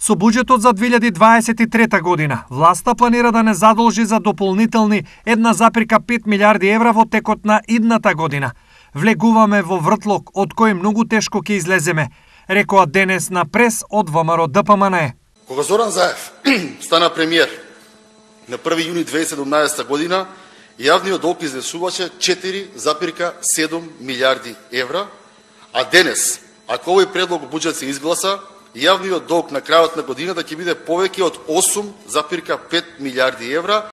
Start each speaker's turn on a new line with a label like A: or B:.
A: Со буџетот за 2023 година, власта планира да не задолжи за дополнителни 1,5 милиарди евра во текот на идната година. Влегуваме во вртлок од кој многу тешко ќе излеземе, рекоа денес на прес од ВМРО ДПМНЕ.
B: Кога Зоран Заев стана премиер на 1 јуни 2017 година, јавниот долг изнесуваше 4,7 милиарди евра, а денес, ако овој предлог буџет се изгласа, јавниот долг на крајот на годината ќе биде повеќе од 8,5 милиарди евра,